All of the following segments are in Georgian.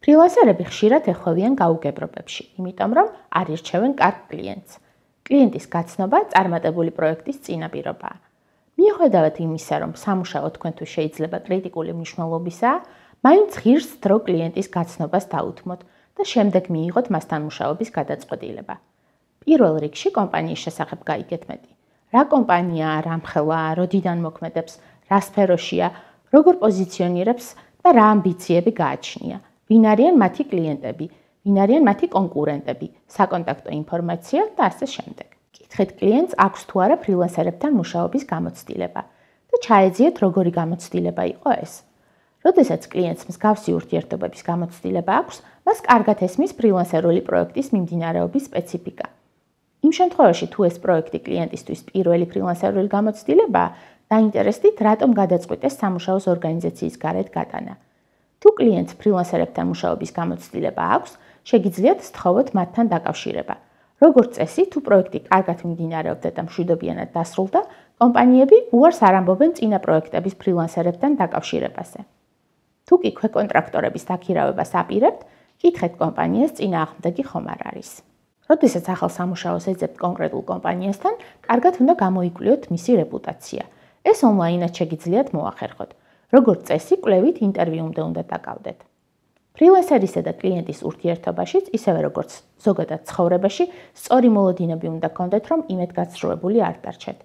ფრილანსერები ხშირად ეხმარებიან გაუგებრობებში, იმიტომ რომ არ ირჩევენ კარგ კლიენტს. კლიენტის გაცნობა წარმატებული პროექტის წინაპირობაა. მიუხედავად იმისა, რომ სამუშაო თქვენთვის შეიძლება კრიტიკული მნიშვნელობისაა, მაინც ღირს დრო კლიენტის გაცნობას დაუთმოთ და შემდეგ მიიღოთ მასთან მუშაობის გადაწყვეტილება. პირველ რიგში კომპანიის შესახებ გაიგეთ მეტი. რა კომპანიაა, რა მხელაა, როდიდან მოქმედებს, რა სფეროშია, როგორ პოზიციონირებს და რა ამბიციები გააჩნია. ვინ არიან მათი კლიენტები, ვინ არიან მათი კონკურენტები, საკონტაქტო ინფორმაცია და ასე შემდეგ. კითხეთ კლიენტს აქვს თუ არა ფრილანსერებთან მუშაობის გამოცდილება და ჩაეძიეთ როგორი გამოცდილება იყო ეს. როდესაც კლიენტს მსგავსი ურთიერთობების გამოცდილება აქვს, მას კარგად ესმის ფრილანსერული პროექტის მიმდინარეობის სპეციფიკა. იმ შემთხვევაში, თუ ეს პროექტი კლიენტისთვის პირველი ფრილანსერული გამოცდილებაა, დაინტერესდით, რატომ გადაწყვიტეს სამუშაოს ორგანიზაციის გარეთ გატანა. თუ კლიენტს ფრილანსერებთან მუშაობის გამოცდილება აქვს, შეგიძლიათ სთხოვოთ მათთან დაკავშირება. როგორც წესი, თუ პროექტი კარგად მიმდინარეობდა და მშვიდობიანად დასრულდა, კომპანიები უარს არ ამბობენ წინა პროექტების ფრილანსერებთან დაკავშირებაზე. თუ კი ქვეკონტრაქტორების დაქირავებას აპირებთ, კითხეთ კომპანიას წინააღმდეგი ხომ არ არის. როდესაც ახალ სამუშაოს ეძებთ კონკრეტულ კომპანიასთან, კარგად უნდა გამოიკვლიოთ მისი რეპუტაცია. ეს ონლაინად შეგიძლიათ მოახერხოთ. როგორც წესი, კვლევით ინტერვიუმდე უნდა დაკავდეთ. ფრილანსერისა და კლიენტის ურთიერთობაშიც, ისევე როგორც ზოგადად ცხოვრებაში, სწორი მოლოდინები უნდა გქონდეთ, რომ იმედგაცრუებული არ დარჩეთ.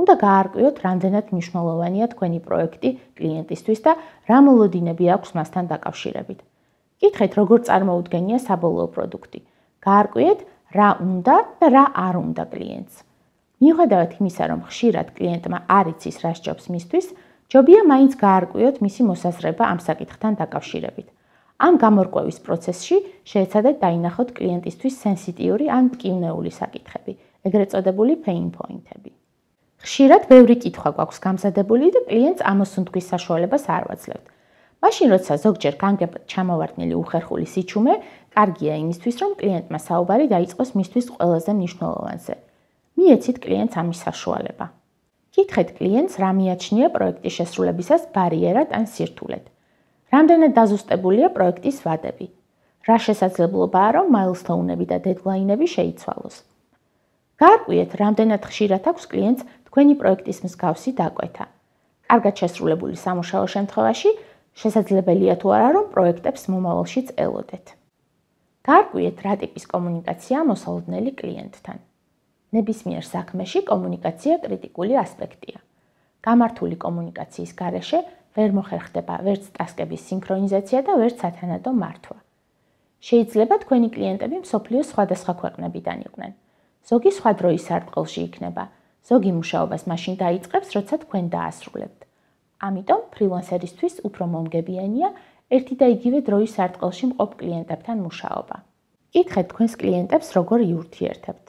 უნდა გაარკვიოთ, რამდენად მნიშვნელოვანია თქვენი პროექტი კლიენტისთვის და რა მოლოდინები აქვს მასთან დაკავშირებით. კითხეთ, როგორ წარმოუდგენია საბოლოო პროდუქტი. გაარკვიეთ, რა უნდა და რა არ უნდა კლიენტს. მიუხედავად იმისა, რომ ხშირად კლიენტმა არ იცის, რა სჯობს მისთვის, ჯობია მაინც გაარკვიოთ მისი მოსაზრება ამ საკითხთან დაკავშირებით. ამ გამორკვევის პროცესში შეეცადეთ დაინახოთ კლიენტისთვის სენსიტიური ან მტკივნეული საკითხები, ეგრეთ წოდებული pain point-ები. ხშირად ბევრი კითხვა გვაქვს გამზადებული და კლიენტს ამოსუნთქვის საშუალებას არ ვაძლევთ. მაშინ, როცა ზოგჯერ განგებთ ჩამოვარდნილი უხერხული სიჩუმე, კარგია იმისთვის, რომ კლიენტმა საუბარი დაიწყოს მისთვის ყველაზე მნიშვნელოვანზე. მიეცით კლიენტს ამის საშუალება. კითხეთ კლიენტს, რა მიაჩნია პროექტის შესრულებისას ბარიერად ან სირთულედ. რამდენად დაზუსტებულია პროექტის ვადები. რა შესაძლებლობაა, რომ მაილსტოუნები და დედლაინები შეიცვალოს. გაარკვიეთ, რამდენად ხშირად აქვს კლიენტს თქვენი პროექტის მსგავსი დაკვეთა. კარგად შესრულებული სამუშაო შემთხვევაში შესაძლებელია თუ არა, რომ პროექტებს მომავალშიც ელოდეთ. გაარკვიეთ, რა ტიპის კომუნიკაცია მოსალოდნელი კლიენტთან. ნებისმიერ საქმეში კომუნიკაცია კრიტიკული ასპექტია. გამართული კომუნიკაციის გარეშე ვერ მოხერხდება ვერც ტასკების სინქრონიზაცია და ვერც სათანადო მართვა. შეიძლება თქვენი კლიენტები მსოფლიოს სხვადასხვა ქვეყნებიდან იყვნენ. ზოგი სხვა დროის სარტყელში იქნება, ზოგი მუშაობას მაშინ დაიწყებს, როცა თქვენ დაასრულებთ. ამიტომ ფრილანსერისთვის უფრო მომგებიანია ერთი და იგივე დროის სარტყელში მყოფ კლიენტებთან მუშაობა. კითხეთ თქვენს კლიენტებს, როგორ იურთიერთებთ.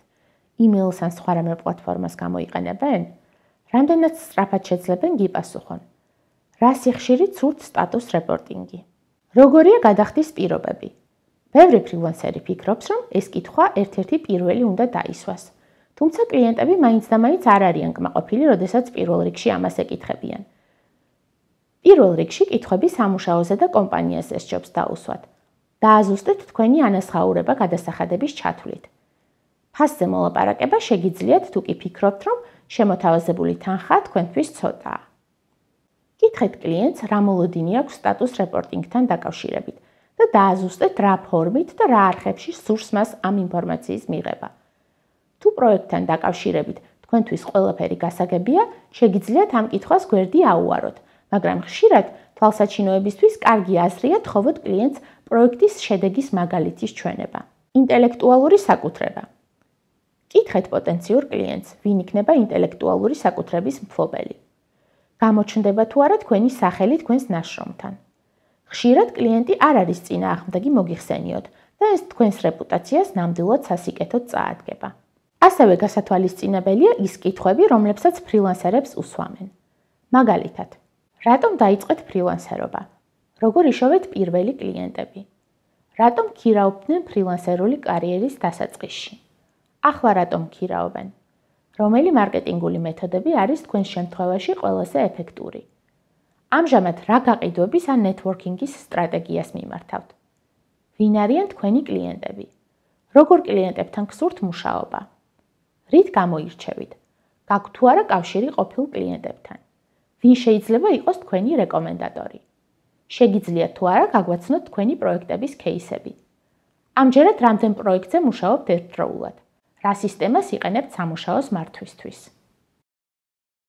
email-ს ან სხვა რამე პლატფორმას გამოიყენებენ? რამდენად სწრაფად შეძლებენ გიპასუხონ? რა სიხშირით სურთ სტატუს რეპორტინგი? როგორია გადახდის პირობები? ბევრი ფრილანსერი ფიქრობს, რომ ეს კითხვა ერთ-ერთი პირველი უნდა დაისვას. თუმცა კლიენტები მაინც და მაინც არ არიან კმაყოფილი, როდესაც პირველ რიგში ამას ეკითხებიან. პირველ რიგში კითხვები სამუშაოზე და კომპანიაზე სჯობს დაუსვათ. დააზუსტეთ თქვენი ანაზღაურება გადასახადების ჩათვლით. ფასზე მოლაპარაკება შეგიძლიათ, თუ კი ფიქრობთ, რომ შემოთავაზებული თანხა თქვენთვის ცოტაა. კითხეთ კლიენტს, რა მოლოდინი აქვს სტატუს რეპორტინგთან დაკავშირებით და დააზუსტეთ, რა ფორმით და რა არხებში სურს მას ამ ინფორმაციის მიღება. თუ პროექტთან დაკავშირებით თქვენთვის ყველაფერი გასაგებია, შეგიძლიათ ამ კითხვას გვერდი აუაროთ, მაგრამ ხშირად თვალსაჩინოებისთვის კარგი აზრია თხოვოთ კლიენტს პროექტის შედეგის მაგალითის ჩვენება. ინტელექტუალური საკუთრება. კითხეთ პოტენციურ კლიენტს, ვინ იქნება ინტელექტუალური საკუთრების მფლობელი. გამოჩნდება თუ არა თქვენი სახელი თქვენს ნაშრომთან. ხშირად კლიენტი არ არის წინააღმდეგი მოგიხსენიოთ და ეს თქვენს რეპუტაციას ნამდვილად სასიკეთოდ წაადგება. ასევე გასათვალისწინებელია ის კითხვები, რომლებსაც ფრილანსერებს უსვამენ. მაგალითად, რატომ დაიწყეთ ფრილანსერობა? როგორ იშოვეთ პირველი კლიენტები? რატომ ქირაობდნენ ფრილანსერული კარიერის დასაწყისში? ახლა რატომ ქირაობენ? რომელი მარკეტინგული მეთოდები არის თქვენს შემთხვევაში ყველაზე ეფექტური? ამჟამად რა გაყიდვების ან ნეტვორკინგის სტრატეგიას მიმართავთ? ვინ არიან თქვენი კლიენტები? როგორ კლიენტებთან გსურთ მუშაობა? რით გამოირჩევით? გაქვთ თუ არა კავშირი ყოფილ კლიენტებთან? ვინ შეიძლება იყოს თქვენი რეკომენდატორი? შეგიძლიათ თუ არა გაგვაცნოთ თქვენი პროექტების кейსები? ამჯერად რამდენ პროექტზე მუშაობთ ერთდროულად? რა სისტემას იყენებთ სამუშაოს მართვისთვის?